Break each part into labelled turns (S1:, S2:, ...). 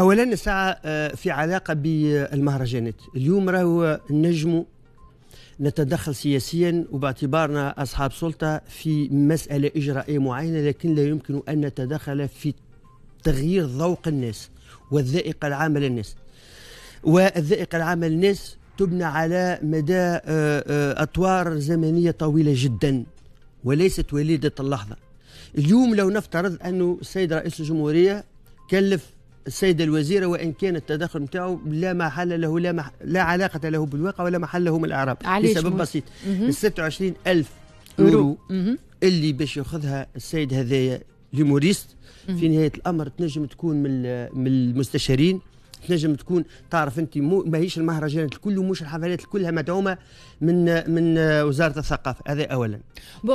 S1: اولا الساعة في علاقة بالمهرجانات، اليوم راهو نجموا نتدخل سياسيا وباعتبارنا اصحاب سلطة في مسالة اجرائيه معينه، لكن لا يمكن ان نتدخل في تغيير ذوق الناس والذائقه العامة للناس. والذائقه العامة للناس تبنى على مدى اطوار زمنية طويلة جدا وليست وليده اللحظة. اليوم لو نفترض انه السيد رئيس الجمهورية كلف السيدة الوزيرة، وإن كان التدخل نتاعو لا محل له، لا علاقة له بالواقع ولا محل له من الإعراب، لسبب بسيط: ال 26 ألف يورو اللي باش ياخذها السيد هذايا l'humoriste في نهاية الأمر تنجم تكون من المستشارين، تنجم تكون، تعرف انت، ماهيش المهرجانات الكل ومش الحفلات كلها مدعومة من وزارة الثقافه. هذا اولا.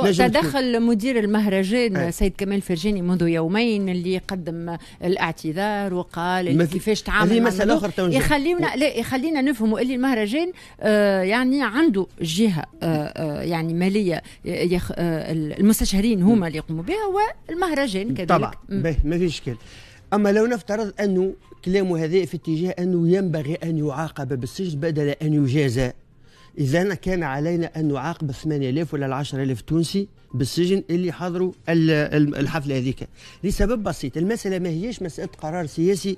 S2: تدخل مدير المهرجان سيد كمال فرجاني منذ يومين اللي قدم الاعتذار وقال كيفاش تعامل.
S1: هذه مسالة اخرى.
S2: يخلينا، لا، يخلينا نفهموا اللي المهرجان يعني عنده جهة يعني ماليه يخ المستشارين هما اللي يقوموا بها والمهرجان كذلك.
S1: طبعا، ما فيش اشكال. اما لو نفترض انه كلامه هذا في اتجاه انه ينبغي ان يعاقب بالسجن بدل ان يجازى، اذا كان علينا ان نعاقب 8000 ولا 10000 تونسي بالسجن اللي حضروا الحفلة هذيك، لسبب بسيط: المسالة ما هيش مسالة قرار سياسي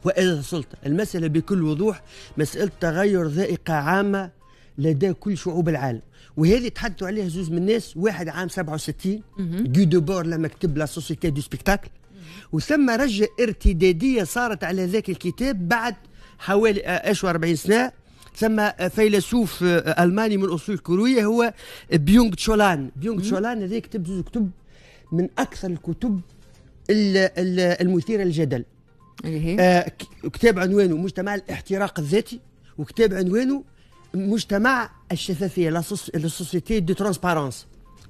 S1: وإذا سلطه، المسالة بكل وضوح مسالة تغير ذائقة عامة لدى كل شعوب العالم، وهذه تحدثوا عليها زوز من الناس: واحد عام 67 Guy Debord لما كتب La Société du spectacle، وثم رجة ارتدادية صارت على ذاك الكتاب بعد حوالي 40 سنة. ثم فيلسوف ألماني من أصول كورية هو بيونغ تشول آن. بيونغ تشول آن هذا كتب زوز كتب من أكثر الكتب المثيرة للجدل. كتاب عنوانه مجتمع الاحتراق الذاتي، وكتاب عنوانه مجتمع الشفافيه، la société de transparence.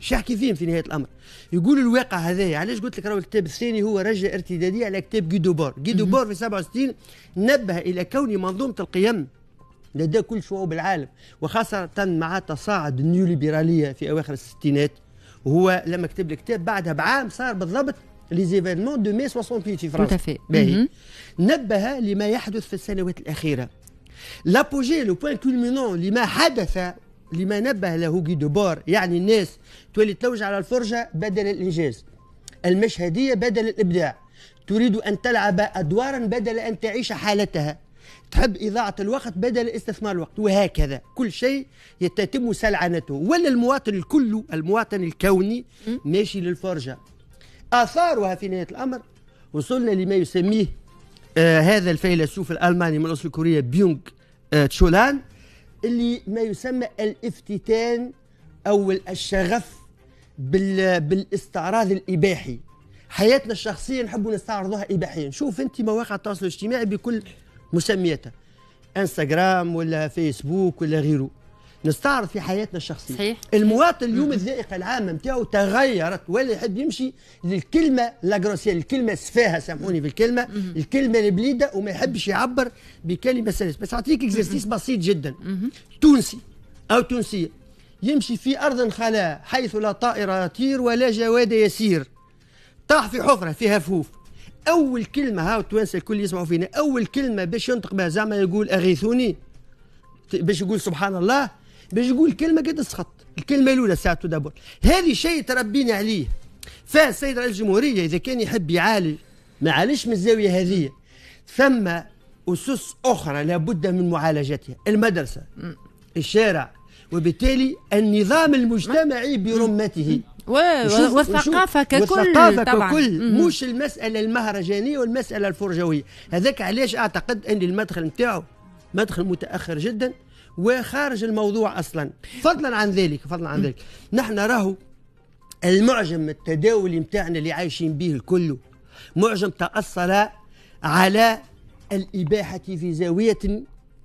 S1: شو يحكي فيهم في نهاية الامر؟ يقول الواقع هذايا. علاش قلت لك راهو الكتاب الثاني هو رجعه ارتداديه على كتاب Guy Debord؟ Guy Debord في 67 نبه الى كون منظومة القيم لدى كل شعوب العالم، وخاصة مع تصاعد النيوليبراليه في اواخر الستينات، وهو لما كتب الكتاب بعدها بعام صار بالضبط les événements de mai 68 في فرنسا. باهي، نبه لما يحدث في السنوات الاخيره. l'apogée، le point culminant لما حدث، لما نبه له Guy Debord، يعني الناس تولي تلوج على الفرجة بدل الانجاز، المشهديه بدل الابداع، تريد ان تلعب ادوارا بدل ان تعيش حالتها، تحب إضاعة الوقت بدل استثمار الوقت، وهكذا كل شيء يتم سلعنته، ولا المواطن الكل، المواطن الكوني ماشي للفرجة. آثارها في نهاية الأمر وصلنا لما يسميه هذا الفيلسوف الألماني من أصل كوريا بيونغ تشول آن، اللي ما يسمى الافتتان أو الشغف بالاستعراض الإباحي. حياتنا الشخصية نحب نستعرضها إباحيا. شوف أنت مواقع التواصل الاجتماعي بكل مسمياتها، انستغرام ولا فيسبوك ولا غيره، نستعرض في حياتنا الشخصيه. المواطن اليوم الذائقة العامة نتاعو تغيرت، ولا يحب يمشي للكلمة la grossière، الكلمة السفاهه، سامحوني في الكلمه، الكلمة البليده، وما يحبش يعبر بكلمه سلسه. بس اعطيك exercice بسيط جدا: تونسي او تونسية يمشي في ارض خلاء حيث لا طائر يطير ولا جواد يسير، طاح في حفره فيها هفهوف، اول كلمه، هاو التوانسة الكل يسمعوا فينا، اول كلمة باش ينطق بها، زعما يقول اغيثوني؟ باش يقول سبحان الله؟ باش يقول كلمة قد السخط، الكلمة الاولى ساعة d'abord. هذه شيء تربينا عليه. فالسيد رئيس الجمهورية اذا كان يحب يعالج، ما عالجش من الزاوية هذه. ثم اسس اخرى لابد من معالجتها: المدرسه، الشارع، وبالتالي النظام المجتمعي برمته
S2: والثقافة ككل.
S1: والثقافة طبعا ككل، مش المسألة المهرجانية والمسألة الفرجوية. هذاك علاش أعتقد أن المدخل نتاعو مدخل متأخر جدا وخارج الموضوع أصلا. فضلا عن ذلك، نحن راهو المعجم التداولي نتاعنا اللي عايشين به الكل معجم تأصل على الإباحة في زاوية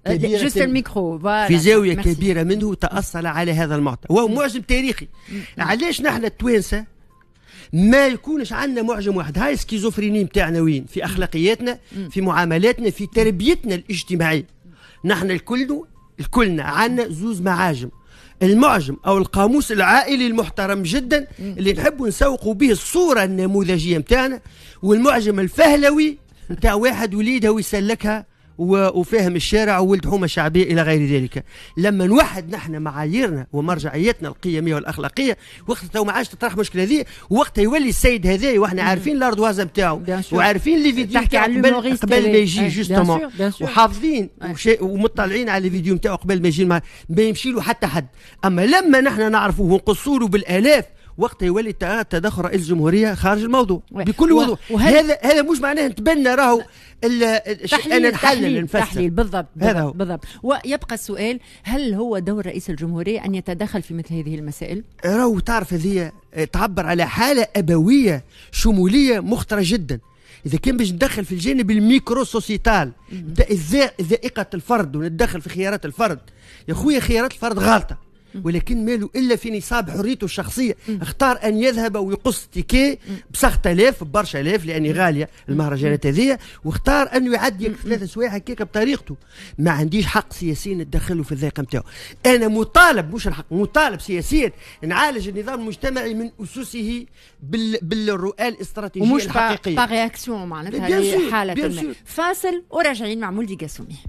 S2: كبيرة، juste ال micro.
S1: في زاوية كبيرة منه تأصل على هذا المعطى، وهو معجم تاريخي. علاش نحن التوانسة ما يكونش عندنا معجم واحد؟ هاي schizophrénie نتاعنا وين؟ في أخلاقياتنا، في معاملاتنا، في تربيتنا الاجتماعية. نحن الكل الكلنا عندنا زوز معاجم: المعجم او القاموس العائلي المحترم جدا اللي نحب نسوقوا به الصورة النموذجيه نتاعنا، والمعجم الفهلوي. نتاع واحد وليدها ويسلكها وفاهم الشارع وولد حومه شعبية الى غير ذلك. لما نوحد نحن معاييرنا ومرجعيتنا القيميه والاخلاقية، وقت تو ما عادش تطرح مشكلة هذه، وقت يولي السيد هذا واحنا عارفين l'ardoise نتاعو وعارفين les vidéos
S2: تحكي على
S1: قبل ما يجي justement، وحافظين ومطلعين على les vidéos نتاعو قبل ما يجي، ما يمشي له حتى حد. اما لما نحن نعرفوه ونقصوا له بالالاف، وقت يولي تدخل رئيس الجمهورية خارج الموضوع بكل وضوح. هذا مش معناه نتبنى راهو.
S2: تحليل، انا نحلل، نفسر، تحليل، بالضبط. هذا هو بالضبط. ويبقى السؤال: هل هو دور رئيس الجمهورية ان يتدخل في مثل هذه المسائل؟
S1: راهو تعرف، هذه تعبر على حاله ابويه شمولية مخطره جدا. اذا كان باش ندخل في الجانب ال micro-sociétal، ذائقة الفرد، ونتدخل في خيارات الفرد، يا خويا خيارات الفرد غالطه، ولكن ماله الا في نصاب حريته الشخصيه. اختار ان يذهب ويقص ticket ب6000، ببرشا الاف، لاني غالية المهرجانات هذه، واختار انه يعدي 3 سوايع هكاك بطريقته. ما عنديش حق سياسي نتدخله في الذائقة نتاعو. انا مطالب، مش الحق، مطالب سياسيا نعالج النظام المجتمعي من اسسه بالرؤى الاستراتيجية
S2: ومش
S1: الحقيقيه.
S2: par réaction معناتها لحاله. فاصل وراجعين مع مولدي قاسومي.